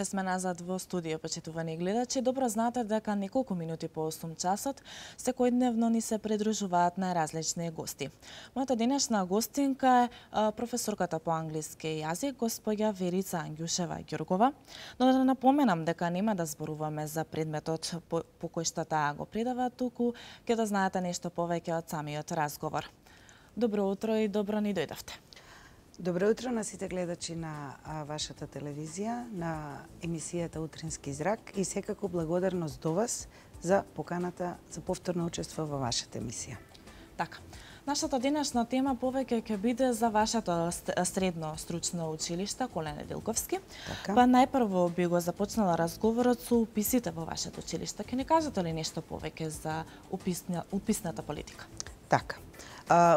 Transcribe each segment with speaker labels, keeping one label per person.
Speaker 1: Ве сме назад во студио, почитувани гледачи. Добро знаете дека неколку минути по 8 часот секојдневно ни се придружуваат најразлични гости. Мојата денешна гостинка е професорката по англиски јазик, госпоѓа Верица Ангјушева Ѓургова. Но да напоменам дека нема да зборуваме за предметот по кој што таа го предава, туку ќе да знаете нешто повеќе од самиот разговор. Добро утро и добро ни дојдовте.
Speaker 2: Добро утро на сите гледачи на вашата телевизија, на емисијата Утрински зрак и секако благодарност до вас за поканата за повторно учество во вашата емисија.
Speaker 1: Така. Нашата денешна тема повеќе ќе биде за вашето средно стручно училиште Коле Неделковски.
Speaker 2: Така.
Speaker 1: Па најпрво би го започнала разговорот со уписите во вашето училиште. Ќе ни кажете ли нешто повеќе за уписната политика?
Speaker 2: Така.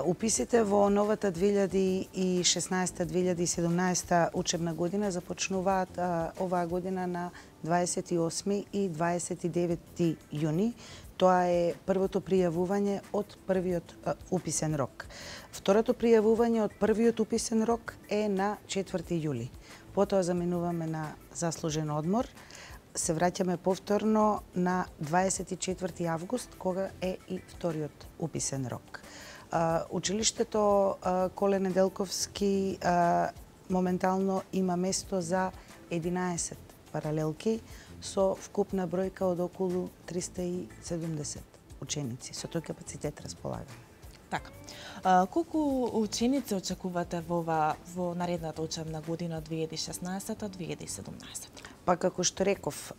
Speaker 2: Уписите во новата 2016-2017 учебна година започнуваат оваа година на 28 и 29 јуни. Тоа е првото пријавување од првиот уписен рок. Второто пријавување од првиот уписен рок е на 4 јули. Потоа заминуваме на заслужен одмор. Се враќаме повторно на 24 август, кога е и вториот уписен рок. Училиштето Коле Неделковски моментално има место за 11 паралелки со вкупна бројка од околу 370 ученици. Со тој капацитет располагаме.
Speaker 1: Така. Колку ученици очекувате во наредната учебна година 2016-2017?
Speaker 2: Па како што реков,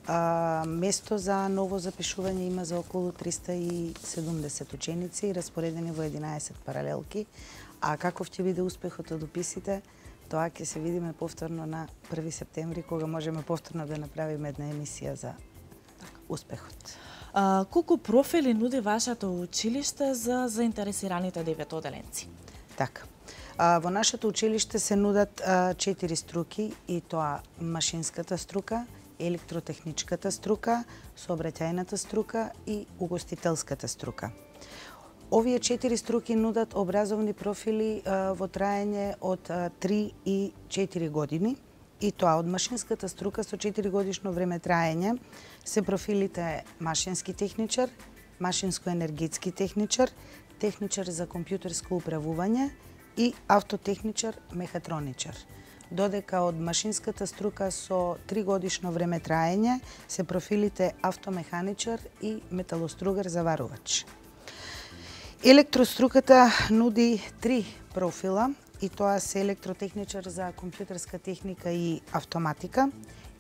Speaker 2: место за ново запишување има за околу 370 ученици, распоредени во 11 паралелки. А каков ќе биде успехот од уписите, тоа ќе се видиме повторно на 1 септември, кога можеме повторно да направиме една емисија за успехот.
Speaker 1: Колку профили нуди вашето училиште за заинтересираните деветоделенци?
Speaker 2: Така. Во нашето училиште се нудат 4 струки, и тоа машинската струка, електротехничката струка, сообраќајната струка и угостителската струка. Овие 4 струки нудат образовни профили во траење од 3 и 4 години. И тоа од машинската струка со 4 годишно време траење се профилите машински техничар, машинско-енергетски техничар, техничар за компјутерско управување и автотехничар, мехатроничар. Додека од машинската струка со 3 годишно време траење се профилите автомеханичар и металостругар заварувач. Електроструката нуди 3 профила, и тоа се електротехничар за компјутерска техника и автоматика,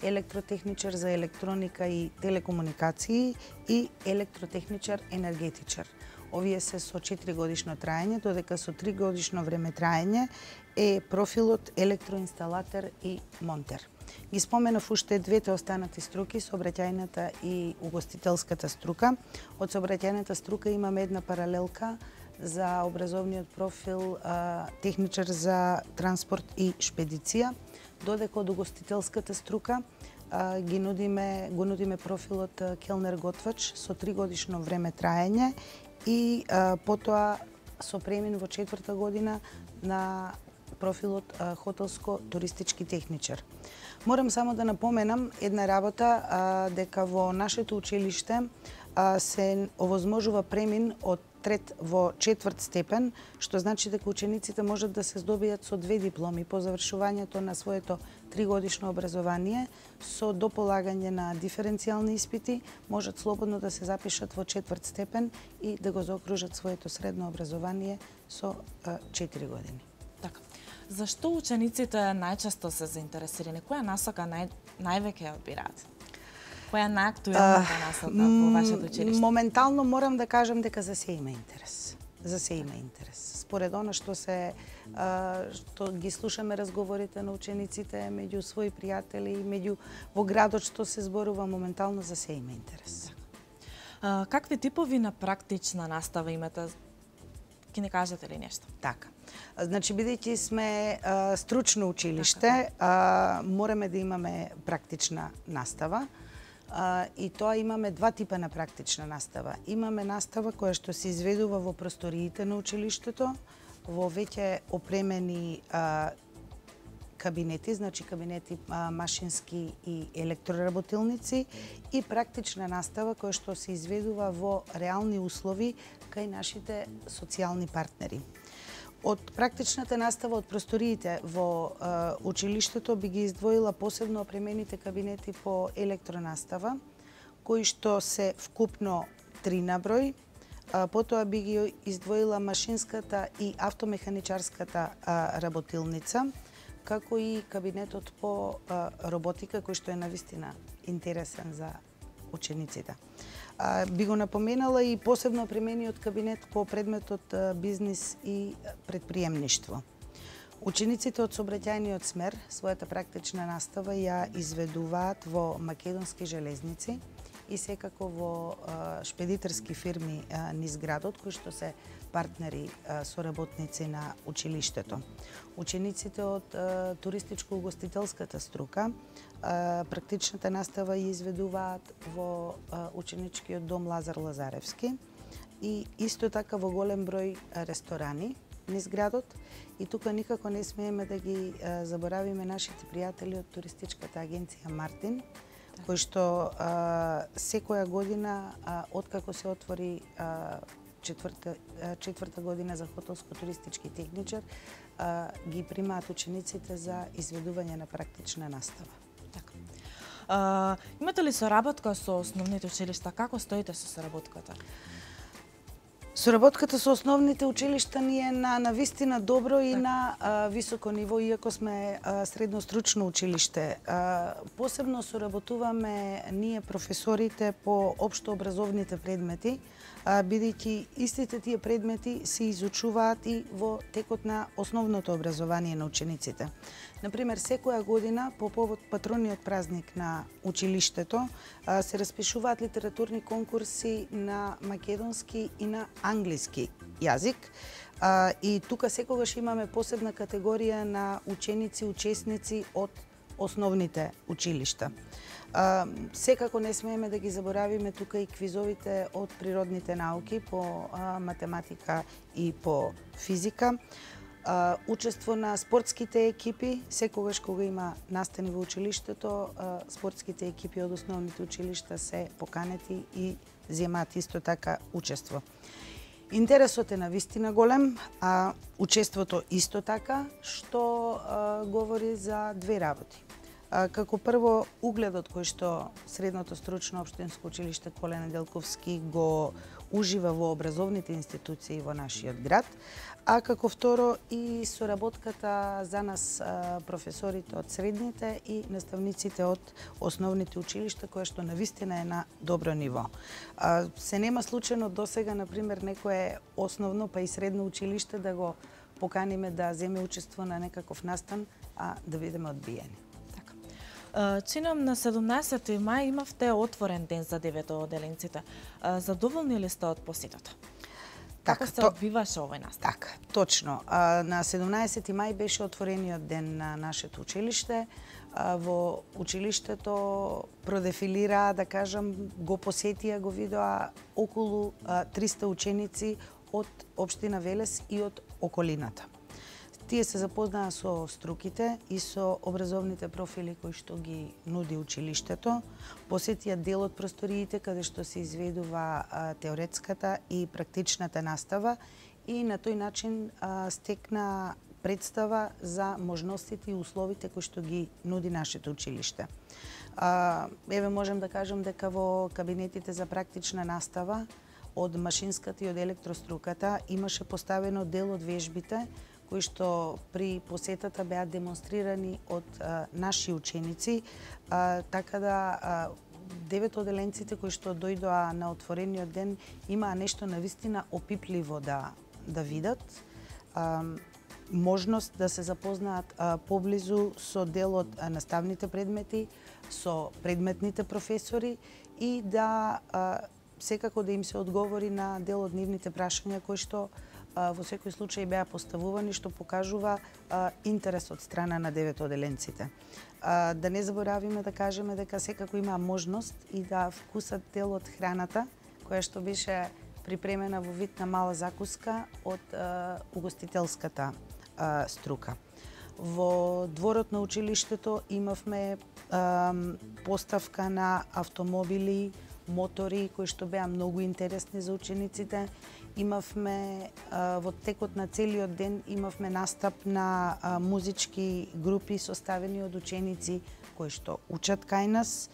Speaker 2: електротехничар за електроника и телекомуникации и електротехничар енергетичар. Овие се со 4 годишно траење, додека со 3 годишно време траење е профилот електроинсталатор и монтер. Ги споменав уште двете останати струки, сообраќајната и угостителската струка. Од сообраќајната струка имаме една паралелка за образовниот профил техничар за транспорт и шпедиција, додека од угостителската струка го нудиме профилот келнер-готвач со 3 годишно време траење и потоа со премин во 4-та година на профилот хотелско-туристички техничар. Морам само да напоменам една работа, дека во нашето училиште се овозможува премин од 3 во 4 степен, што значи дека учениците можат да се здобијат со 2 дипломи по завршувањето на своето 3-годишно образование, со дополагање на диференцијални испити, можат слободно да се запишат во 4 степен и да го заокружат своето средно образование со 4 години.
Speaker 1: Така. Зашто учениците најчесто се заинтересирани? Која насока највеќе одбираат? Која е најактуелната насока во вашето училиште?
Speaker 2: Моментално морам да кажам дека за се има интерес. За се има интерес. Според она што ги слушаме разговорите на учениците меѓу своји пријатели, меѓу во градот што се зборува, моментално за се има интерес.
Speaker 1: Какви типови на практична настава имате? Ке не кажете ли нешто?
Speaker 2: Така. Значи, бидејќи сме стручно училиште, мораме да имаме практична настава. И тоа имаме два типа на практична настава. Имаме настава која што се изведува во просториите на училиштето, во веќе опремени кабинети, значи кабинети машински и електроработилници и практична настава која што се изведува во реални услови кај нашите социјални партнери. Од практичната настава од просториите во училиштето би ги издвоила посебно опремените кабинети по електронастава, кои што се вкупно 3 на број. Потоа би ги издвоила машинската и автомеханичарската работилница, како и кабинетот по роботика, кој што е навистина интересен за учениците. Би го напоменала и посебно опремениот кабинет по предметот бизнис и предприемништво. Учениците од сообраќајниот смер својата практична настава ја изведуваат во македонски железници и секако во шпедитерски фирми низ градот, кои што се партнери, соработници на училиштето. Учениците од туристичко-угостителската струка практичната настава ја изведуваат во ученичкиот дом Лазар Лазаревски и исто така во голем број ресторани низ градот. И тука никако не смееме да ги заборавиме нашите пријатели од туристичката агенција Мартин, кој што секоја година, откако се отвори четврта година за хотелско-туристички техничар, ги примаат учениците за изведување на практична настава.
Speaker 1: Така. Имате ли соработка со основните училишта? Како стоите со соработката?
Speaker 2: Соработката со основните училишта ни е на навистина добро и на високо ниво, иако сме средно стручно училиште. Посебно соработуваме ние професорите по општо образовните предмети, бидејќи истите тие предмети се изучуваат и во текот на основното образование на учениците. Например, секоја година по повод патрониот празник на училиштето се распишуваат литературни конкурси на македонски и на англиски јазик. И тука секогаш имаме посебна категорија на ученици, учесници од основните училишта. Секако не смееме да ги заборавиме тука и квизовите од природните науки по математика и по физика. Учество на спортските екипи, секогаш кога има настани во училиштето, спортските екипи од основните училишта се поканети и земаат исто така учество. Интересот е навистина голем, а учеството исто така, што говори за две работи. Како прво, угледот кој што Средното стручно општинско училиште Коле Неделковски го ужива во образовните институции во нашиот град, а како второ и соработката за нас професорите од средните и наставниците од основните училишта, која што навистина е на добро ниво. Се нема случајно досега, например, некое основно па и средно училиште да го поканиме да земе учество на некаков настан, а да бидеме одбиени.
Speaker 1: Чинам на 17 мај имавте отворен ден за деветоделенците. Задоволни ли сте од посетата? Како се одбиваше овој настан?
Speaker 2: Така, точно. На 17 мај беше отворениот ден на нашето училиште. Во училиштето продефилираа, да кажам, го посетија, го видоа околу 300 ученици од општина Велес и од околината. Тие се запознаа со струките и со образовните профили кои што ги нуди училиштето, посетија дел од просториите каде што се изведува теоретската и практичната настава и на тој начин стекна представа за можностите и условите кои што ги нуди нашето училиште. Еве можем да кажем дека во кабинетите за практична настава од машинската и од електроструката имаше поставено дел од вежбите кои што при посетата беа демонстрирани од наши ученици, така да деветоделенците кои што дојдоа на отворениот ден имаа нешто навистина опипливо да видат, можност да се запознаат поблизу со дел од наставните предмети, со предметните професори и да секако да им се одговори на дел од нивните прашања кои што во секој случај беа поставувани, што покажува интерес од страна на деветоделенците. Да не заборавиме да кажеме дека секако има можност и да вкусат дел од храната, која што беше припремена во вид на мала закуска од угостителската струка. Во дворот на училиштето имавме поставка на автомобили, мотори кои што беа многу интересни за учениците. Имавме во текот на целиот ден имавме настап на музички групи составени од ученици кои што учат кај нас.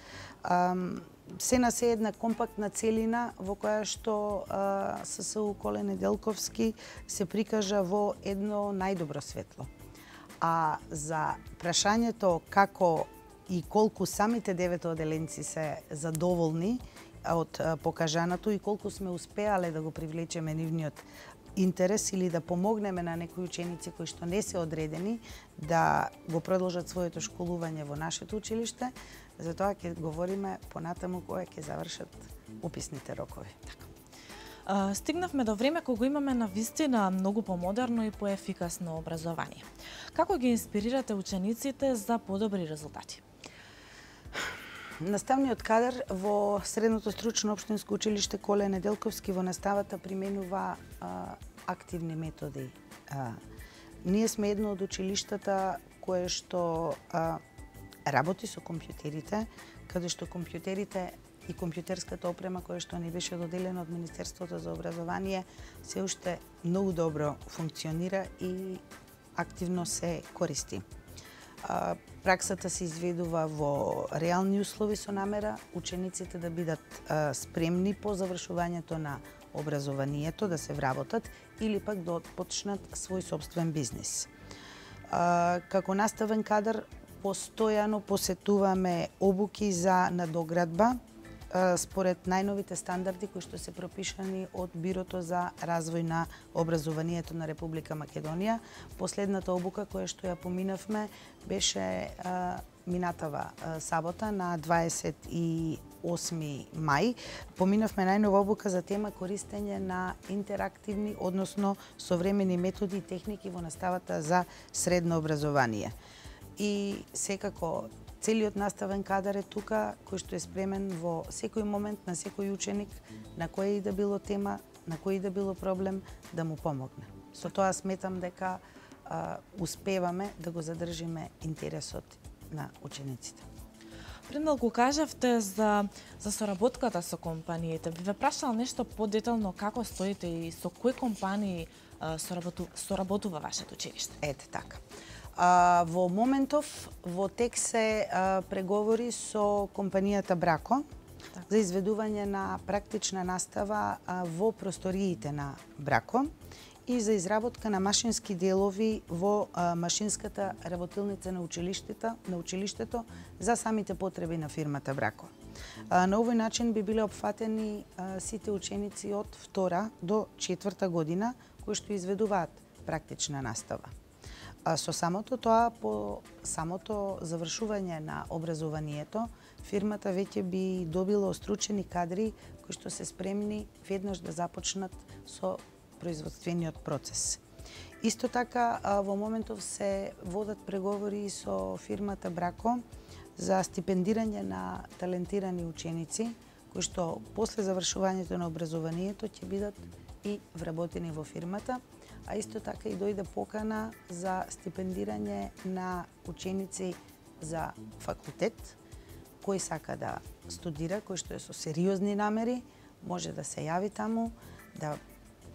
Speaker 2: Се на се една компактна целина во која што ССУ Коле Неделковски се прикажа во едно најдобро светло. А за прашањето како и колку самите 9 оделенци се задоволни од покажаното и колку сме успеале да го привлечеме нивниот интерес или да помогнеме на некои ученици кои што не се одредени да го продолжат своето школување во нашето училиште, за тоа ќе говориме понатаму кога ќе завршат уписните рокови.
Speaker 1: Стигнавме до време кога имаме навистина многу помодерно и поефикасно образование. Како ги инспирирате учениците за подобри резултати?
Speaker 2: Наставниот кадар во Средното стручно општинско училиште Коле Неделковски во наставата применува активни методи. Ние сме едно од училиштата кое што работи со компјутерите, каде што компјутерите и компјутерската опрема која што ни беше доделена од Министерството за образование се уште многу добро функционира и активно се користи. Праксата се изведува во реални услови со намера учениците да бидат спремни по завршувањето на образованието, да се вработат или пак да почнат свој собствен бизнис. Како наставен кадар постојано посетуваме обуки за надоградба според најновите стандарди кои што се пропишани од Бирото за развој на образованието на Република Македонија. Последната обука која што ја поминавме беше минатава сабота на 28 мај. Поминавме најнова обука за тема користење на интерактивни, односно современи методи и техники во наставата за средно образование. И секако целиот наставен кадар е тука, кој што е спремен во секој момент на секој ученик, на која и да било тема, на кој и да било проблем, да му помогне. Со тоа сметам дека успеваме да го задржиме интересот на учениците.
Speaker 1: Пред малку кажавте за соработката со компаниите. Би ве прашала нешто подетално како стоите и со кои компании соработува вашето училиште?
Speaker 2: Ете така. Во моментов во тек се преговори со компанијата Брако за изведување на практична настава во просториите на Брако и за изработка на машински делови во машинската работилница на училиштето за самите потреби на фирмата Брако. На овој начин би биле опфатени сите ученици од 2 до 4 година кои што изведуваат практична настава. Со самото тоа, по самото завршување на образованието, фирмата веќе би добила остручени кадри кои што се спремни веднаш да започнат со производствениот процес. Исто така, во моментов се водат преговори со фирмата Брако за стипендирање на талентирани ученици кои што после завршувањето на образованието ќе бидат и вработени во фирмата, а исто така и дојде покана за стипендирање на ученици за факултет, кој сака да студира, кој што е со сериозни намери, може да се јави таму, да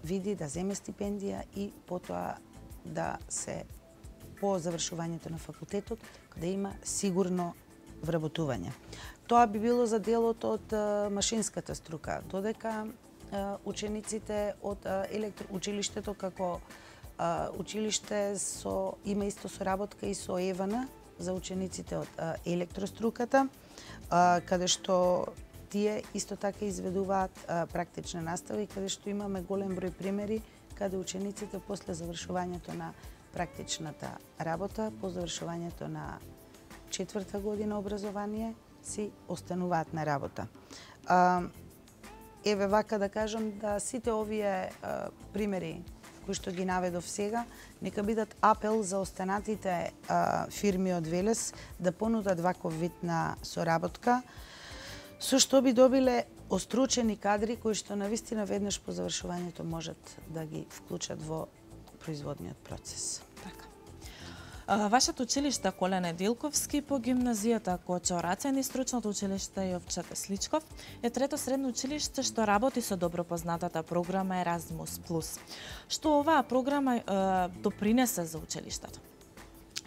Speaker 2: види, да земе стипендија и потоа да се по завршувањето на факултетот да има сигурно вработување. Тоа би било за делот од машинската струка, додека учениците од училиштето како училиште има исто соработка и со ЕВН за учениците од електроструката, каде што тие исто така изведуваат практична настава и каде што имаме голем број примери каде учениците после завршувањето на практичната работа, по завршувањето на 4-та година образование, си остануваат на работа. Еве вака да кажам да сите овие примери кои што ги наведов сега, нека бидат апел за останатите фирми од Велес да понудат ваков вид на соработка, со што би добиле остручени кадри кои што навистина веднаш по завршувањето можат да ги вклучат во производниот процес.
Speaker 1: Така. Вашето училиште Коле Неделковски по гимназијата Кочо Рацен и стручното училиште Јовче Тесличков е трето средно училиште што работи со добро познатата програма Еразмус Плюс. Што оваа програма допринесе за училиштето?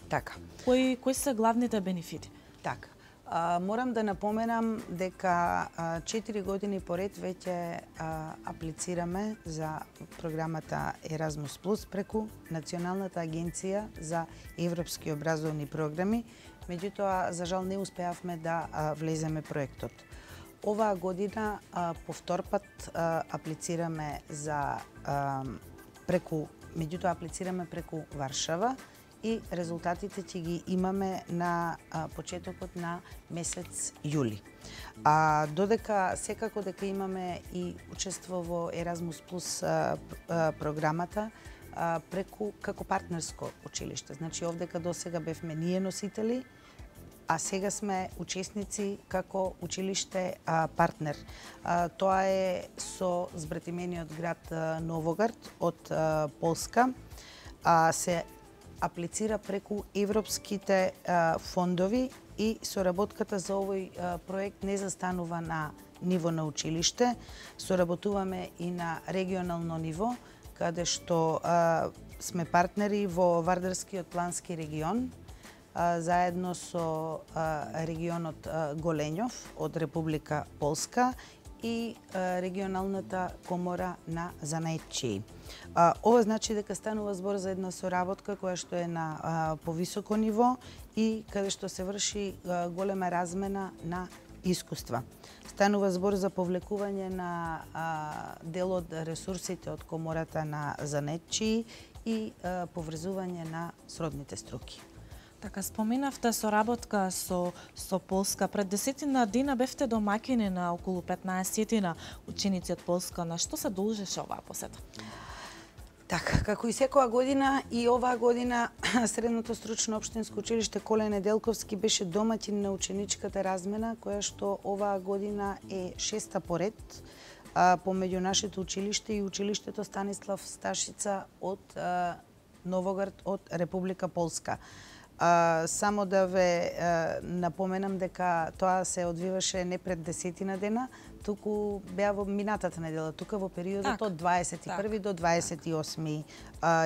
Speaker 2: Така.
Speaker 1: Кои се главните бенефити?
Speaker 2: Така. Морам да напоменам дека 4 години поред веќе аплицираме за програмата Еразмус Плюс преку Националната агенција за европски образовни програми, меѓутоа за жал не успеавме да влеземе проектот. Оваа година повторпат аплицираме аплицираме преку Варшава и резултатите ќе ги имаме на почетокот на месец јули. Додека секако дека имаме и учество во Еразмус Плюс програмата преку како партнерско училиште. Значи овдека досега бевме ние носители, а сега сме учесници како училиште партнер. Тоа е со збратимениот град Новоград од Полска. Се аплицира преку европските фондови и соработката за овој проект не застанува на ниво на училиште. Соработуваме и на регионално ниво, каде што сме партнери во Вардарскиот плански регион, заедно со регионот Голењов од Република Полска и регионалната комора на занаетчии. Ова значи дека станува збор за една соработка која што е на повисоко ниво и каде што се врши голема размена на искуства. Станува збор за повлекување на дел од ресурсите од комората на занаетчии и поврзување на сродните струки.
Speaker 1: Така, споменавте соработка со Полска. Пред 10 дена бевте домаќини на околу 15 ученици од Полска. На што се должеше оваа посета?
Speaker 2: Така, како и секоја година, и оваа година Средното стручно општинско училиште Коле Неделковски беше домаќин на ученичката размена, која што оваа година е 6-та поред помеѓу нашето училиште и училиштето Станислав Сташица од Новоград од Република Полска. Само да ве напоменам дека тоа се одвиваше не пред 10 дена, туку беа во минатата недела, тука во периодот од 21 до 28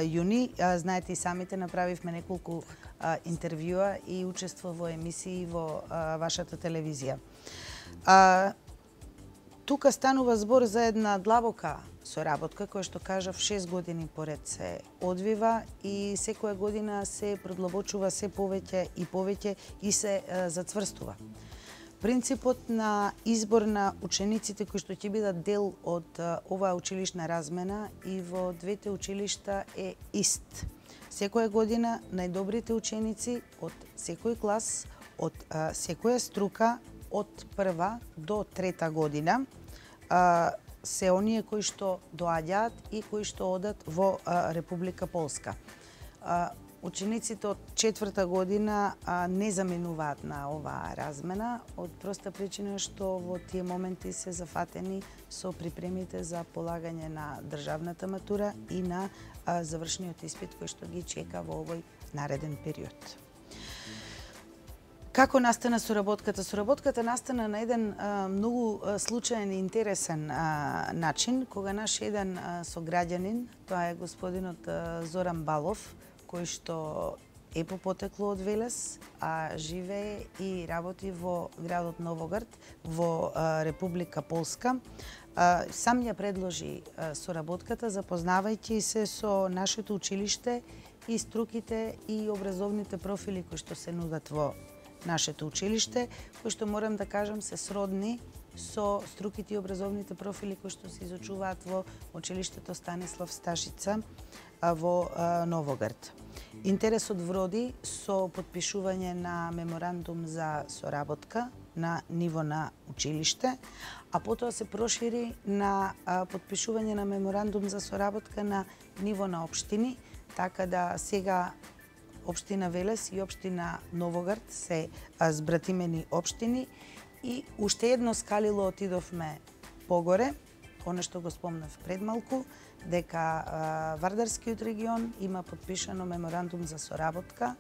Speaker 2: јуни. Знаете и самите, направивме неколку интервјуа и учество во емисии во вашата телевизија. Тука станува збор за една длабока соработка, која што кажав 6 години поред се одвива и секоја година се продлабочува се повеќе и се зацврстува. Принципот на избор на учениците кои што ќе бидат дел од оваа училишна размена и во двете училишта е ист. Секоја година најдобрите ученици од секој клас, од секоја струка, од прва до трета година, се оние кои што доаѓаат и кои што одат во Република Полска. Учениците од четврта година не заменуваат на оваа размена од проста причина што во тие моменти се зафатени со припремите за полагање на државната матура и на завршниот испит кој што ги чека во овој нареден период. Како настана соработката? Соработката настана на еден многу случаен и интересен начин, кога наш еден сограѓанин, тоа е господинот Зоран Балов, кој што е по потекло од Велес, а живее и работи во градот Новоград, во Република Полска, сам ја предложи соработката, запознавајќи се со нашето училиште и струките и образовните профили кои што се нудат во нашето училиште, кои што морам да кажам се сродни со струките и образовните профили кои што се изучуваат во училиштето Станислав Сташица во Новоград. Интересот вроди со потпишување на меморандум за соработка на ниво на училиште, а потоа се прошири на потпишување на меморандум за соработка на ниво на општини, така да сега општина Велес и општина Новоград се збратимени општини и уште едно скалило отидовме погоре, она што го спомнав пред малку, дека Вардарскиот регион има потпишано меморандум за соработка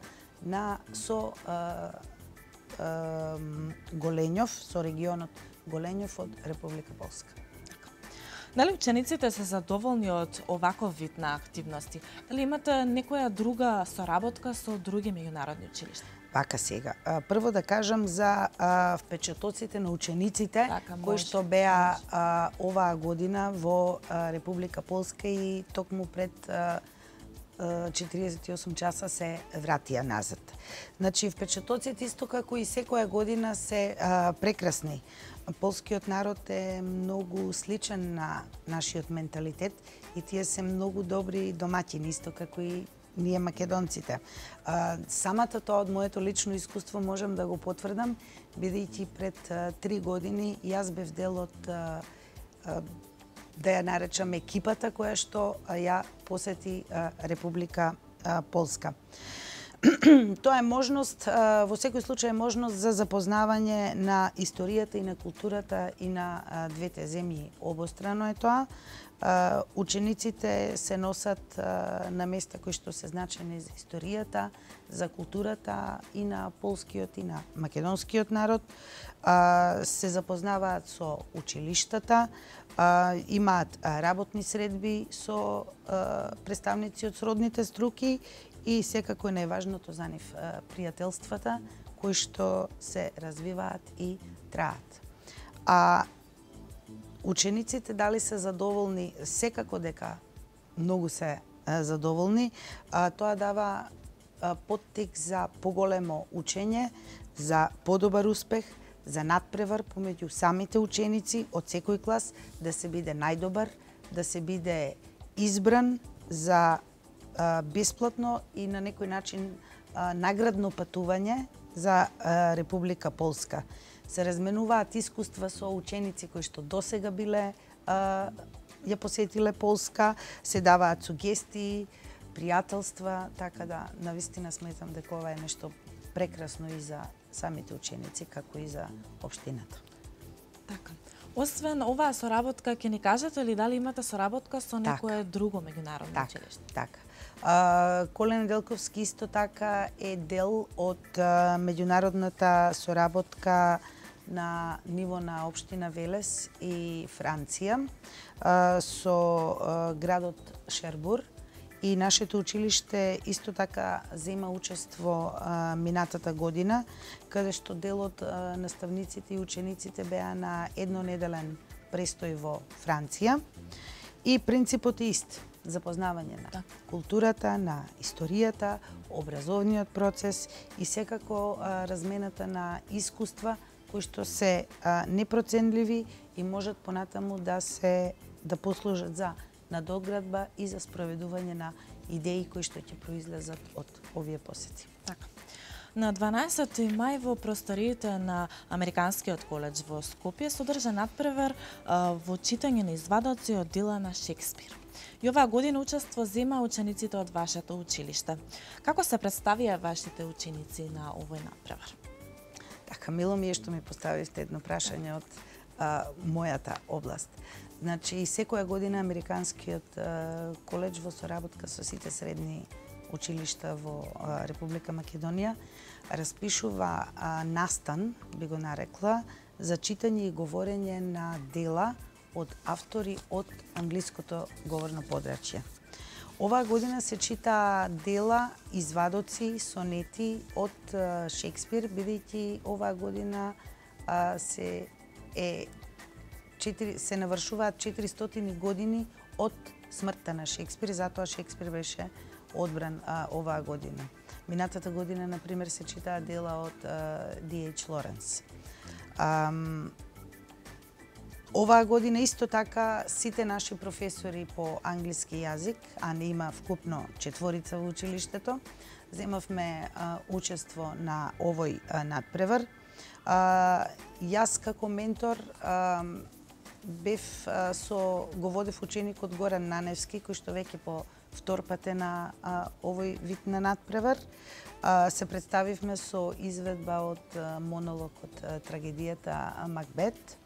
Speaker 2: со Голењов, со регионот Голењов од Република Полска.
Speaker 1: Дали учениците се задоволни од оваков вид на активности? Дали имате некоја друга соработка со други меѓународни училишта?
Speaker 2: Вака сега. Прво да кажам за впечатоците на учениците кои што беа оваа година во Република Полска и токму пред 48 часа се вратија назад. Значи, впечатоците исто како и секоја година се прекрасни. Полскиот народ е многу сличен на нашиот менталитет и тие се многу добри домаќини, исто како и ние македонците. Самата тоа од моето лично искуство можам да го потврдам, бидејќи пред 3 години јас бев дел од да ја наречам екипата која што ја посети Република Полска. Тоа е можност, во секој случај е можност за запознавање на историјата и на културата и на двете земји. Обострано е тоа. Учениците се носат на места кои што се значени за историјата, за културата и на полскиот и на македонскиот народ. Се запознаваат со училиштата, имаат работни средби со представници од сродните струки и секако е најважното за нив пријателствата кои што се развиваат и траат. Учениците дали се задоволни? Секако дека многу се задоволни. Тоа дава поттик за поголемо учење, за подобар успех, за надпревар помеѓу самите ученици од секој клас, да се биде најдобар, да се биде избран за бесплатно и на некој начин наградно патување за Република Полска. Се разменуваат искуства со ученици кои што досега биле ја посетиле Полска, се даваат сугестии, пријателства, така да навистина сметам дека ова е нешто прекрасно и за самите ученици, како и за општината.
Speaker 1: Така. Освен оваа соработка, ќе ни кажете ли дали имате соработка со некое друго меѓународно училиште?
Speaker 2: Така. Коле Неделковски исто така е дел од меѓународната соработка на ниво на општина Велес и Франција со градот Шербур. И нашето училиште исто така зема учество минатата година, каде што дел од наставниците и учениците беа на еднонеделен престој во Франција. И принципот е ист. Запознавање на културата, на историјата, образовниот процес и секако размената на искуства кои што се непроценливи и можат понатаму да послужат за надоградба и за спроведување на идеи кои што ќе произлезат од овие посети.
Speaker 1: Така. На 12 мај во просториите на Американскиот коледж во Скопје се одржа надпревар во читање на извадоци од дела на Шекспир. И оваа година учество зема учениците од вашето училиште. Како се представија вашите ученици на овој надпревар?
Speaker 2: Така, мило ми е што ми поставивте едно прашање од мојата област. Значи, секоја година Американскиот коледж во соработка со сите средни училишта во Република Македонија распишува настан, би го нарекла, за читање и говорење на дела од автори од англиското говорно подрачје. Оваа година се чита дела, извадоци, сонети од Шекспир, бидејќи оваа година се навршуваат 400 години од смртта на Шекспир, затоа Шекспир беше одбран оваа година. Минатата година, например, се читаа дела од D.H. Лоренс. Оваа година исто така сите наши професори по англиски јазик, а не има вкупно 4 во училиштето, земавме учество на овој надпревар. Јас како ментор го водев ученикот Горан Наневски, кој што веќе по втор пат е на овој вид на надпревар. Се представивме со изведба од монолог од трагедијата Макбет.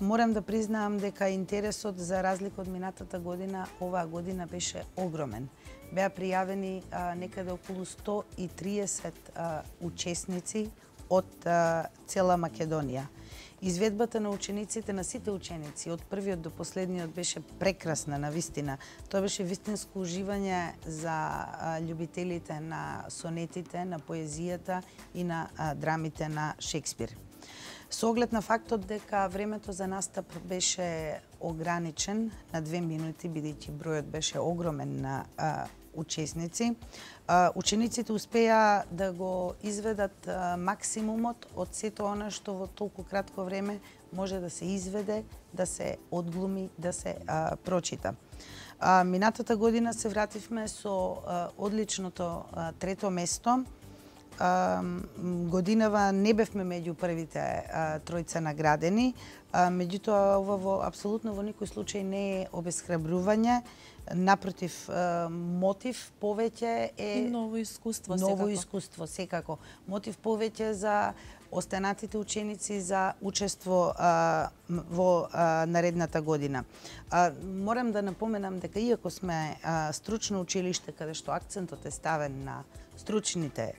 Speaker 2: Морам да признаам дека интересот, за разлика од минатата година, оваа година беше огромен. Беа пријавени некаде околу 130 учесници од цела Македонија. Изведбата на учениците, на сите ученици, од првиот до последниот, беше прекрасна, навистина. Тоа беше вистинско уживање за љубителите на сонетите, на поезијата и на драмите на Шекспир. Со оглед на фактот дека времето за настап беше ограничен на 2 минути, бидејќи бројот беше огромен на учесници, учениците успеа да го изведат максимумот од сето она што во толку кратко време може да се изведе, да се одглуми, да се прочита. Минатата година се вративме со одличното трето место. Годинава не бевме меѓу првите тројца наградени, меѓутоа ова апсолутно во никој случај не е обесхрабрување, напротив, мотив повеќе е
Speaker 1: и ново искуство,
Speaker 2: ново искуство секако. Мотив повеќе за останатите ученици за учество во наредната година. Морам да напоменам дека иако сме стручно училиште каде што акцентот е ставен на стручните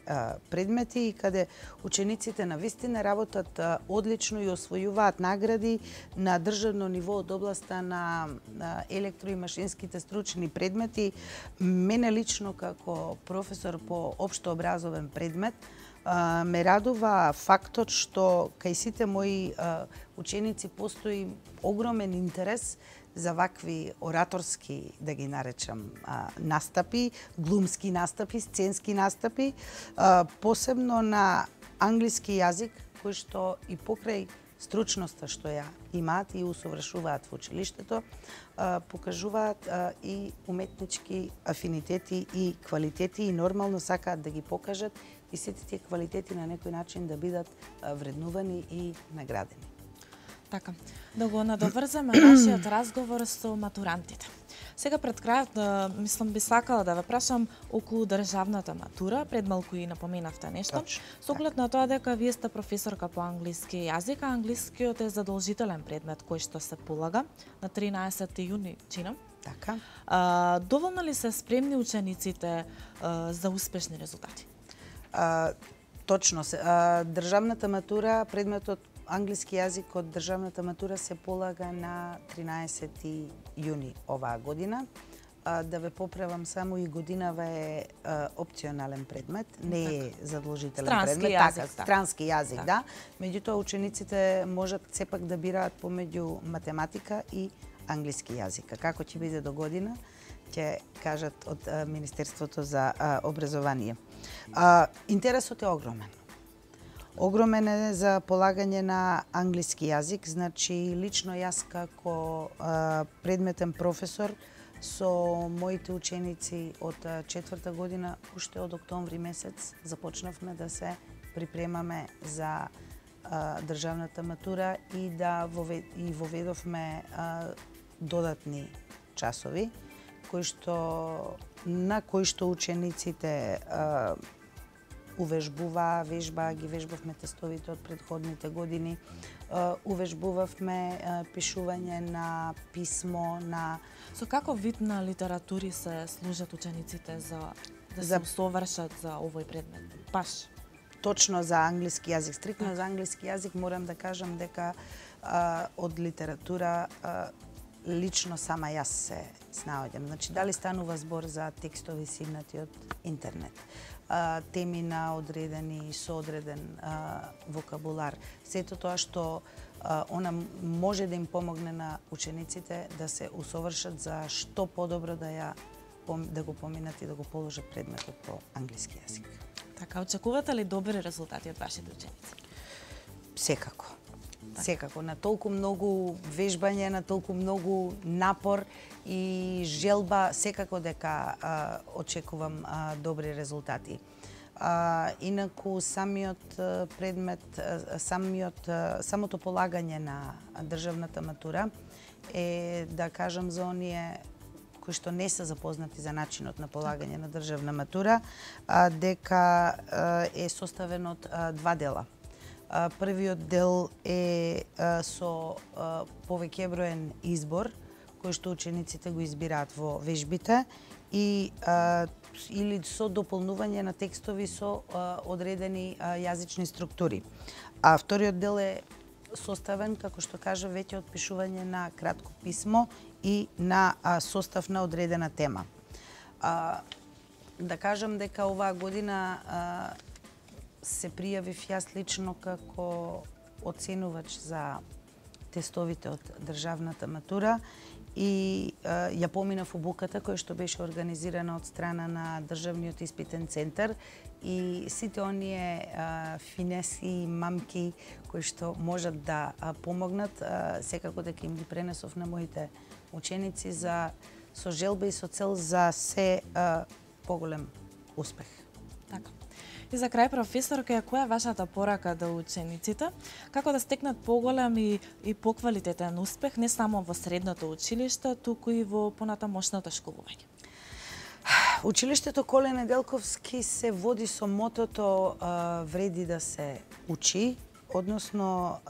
Speaker 2: предмети и каде учениците навистина работат одлично и освојуваат награди на државно ниво од областа на електро и машинските стручни предмети, мене лично како професор по општообразовен предмет ме радува фактот што кај сите мои ученици постои огромен интерес за вакви ораторски, да ги наречам, настапи, глумски настапи, сценски настапи, посебно на англиски јазик, кој што и покрај стручноста што ја имаат и усовршуваат во училиштето, покажуваат и уметнички афинитети и квалитети и нормално сакаат да ги покажат и сите тие квалитети на некој начин да бидат вреднувани и наградени.
Speaker 1: Така, да го надоврзаме нашиот разговор со матурантите. Сега пред крајот, мислам, би сакала да ве прашам околу државната матура, пред малку и напоменавте нешто. Со оглед на тоа дека вие сте професорка по англиски јазик, а англискиот е задолжителен предмет кој што се полага на 13 јуни, чинам.
Speaker 2: Така.
Speaker 1: Доволно ли се спремни учениците за успешни резултати?
Speaker 2: Точно се. Државната матура, предметот англиски јазик од државната матура се полага на 13 јуни оваа година. Да ве поправам само, и годинава е опционален предмет, не е задолжителен предмет.
Speaker 1: Јазик,
Speaker 2: странски јазик, да. Меѓутоа учениците можат сепак да бираат помеѓу математика и англиски јазик. Како ќе биде до година, ќе кажат од Министерството за образование. Интересот е огромен. Огромен е за полагање на англиски јазик, значи лично јас како предметен професор со моите ученици од 4-та година, уште од октомври месец започнавме да се припремаме за државната матура и да воведовме додатни часови на кои што учениците ги вежбавме тестовите од предходните години, увежбувавме пишување на писмо, на...
Speaker 1: Со каков вид на литератури се служат учениците да се усовршат за овој предмет? Баш?
Speaker 2: Точно за англиски јазик. Стриктно за англиски јазик морам да кажам дека од литература лично сама јас се снаоѓам. Значи, дали станува збор за текстови симнати од интернет, теми на одредени и соодреден вокабулар. Сето тоа што она може да им помогне на учениците да се усовршат за што подобро да го поминат и да го положат предметот по англиски јазик.
Speaker 1: Така, очекувате ли добри резултати од вашите ученици?
Speaker 2: Секако. Секако, на толку многу вежбање, на толку многу напор и желба, секако дека очекувам добри резултати. Инаку самиот предмет, самото полагање на државната матура е, да кажам, за оние кои што не се запознати за начинот на полагање на државна матура, дека е составен од два дела. Првиот дел е со повеќе броен избор, кој што учениците го избираат во вежбите и или со дополнување на текстови со одредени јазични структури. А вториот дел е составен, како што кажа, веќе од пишување на кратко писмо и на состав на одредена тема. Да кажам дека оваа година се пријавив јас лично како оценувач за тестовите од државната матура и ја поминав обуката која што беше организирана од страна на Државниот испитен центар и сите оние финеси и мамки кои што можат да помогнат, секако дека им ги пренесов на моите ученици со желба и со цел за се поголем успех.
Speaker 1: Така. И за крај, професорка, која е вашата порака до учениците, како да стекнат поголем и поквалитетен успех не само во средното училиште, туку и во понатамошното школување?
Speaker 2: Училиштето Коле Неделковски се води со мотото вреди да се учи, односно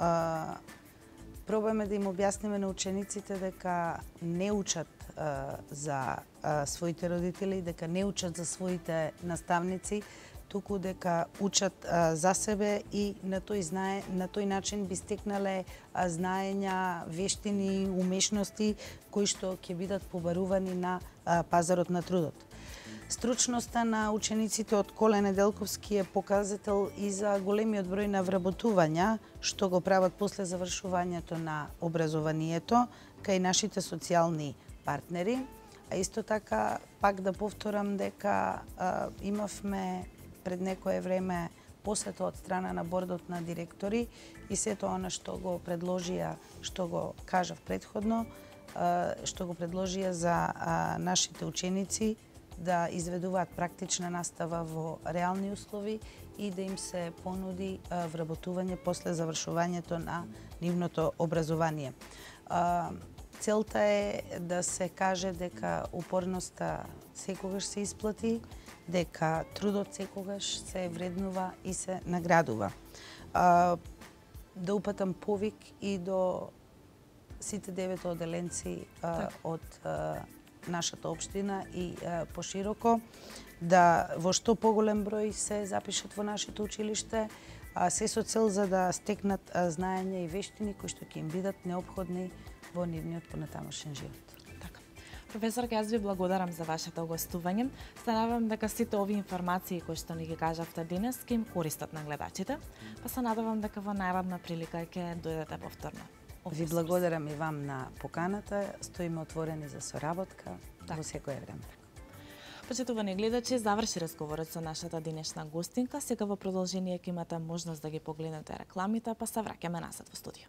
Speaker 2: пробаме да им објасниме на учениците дека не учат за своите родители, дека не учат за своите наставници, туку дека учат за себе и на тој начин би стекнале знаења, вештини, умешности кои што ќе бидат побарувани на пазарот на трудот. Стручноста на учениците од Коле Неделковски е показател и за големиот број на вработувања што го прават после завршувањето на образованието кај нашите социјални партнери. А исто така, пак да повторам дека имавме пред некое време посета од страна на бордот на директори и сето она што го предложија, што го кажав предходно, што го предложија за нашите ученици да изведуваат практична настава во реални услови и да им се понуди вработување после завршувањето на нивното образование. Целта е да се каже дека упорноста секогаш се исплати, дека трудот секогаш се вреднува и се наградува. Да упатам повик и до сите 9 оделенци од нашата општина и пошироко, да во што поголем број се запишат во нашето училиште, се со цел за да стекнат знаења и вештини кои што ќе им бидат неопходни во нивниот понатамошен живот.
Speaker 1: Така. Професорка, јас ви благодарам за вашето гостување. Се надевам дека сите овие информации кои што ни ги кажавте денес ќе им користат на гледачите, па се надевам дека во наредна прилика ќе дојдете повторно.
Speaker 2: Ви благодарам и вам на поканата. Стоиме отворени за соработка во секое време.
Speaker 1: Почитувани гледачи, заврши разговорот со нашата денешна гостинка. Сега во продолжение ќе имате можност да ги погледнете рекламите, па се враќаме назад во студио.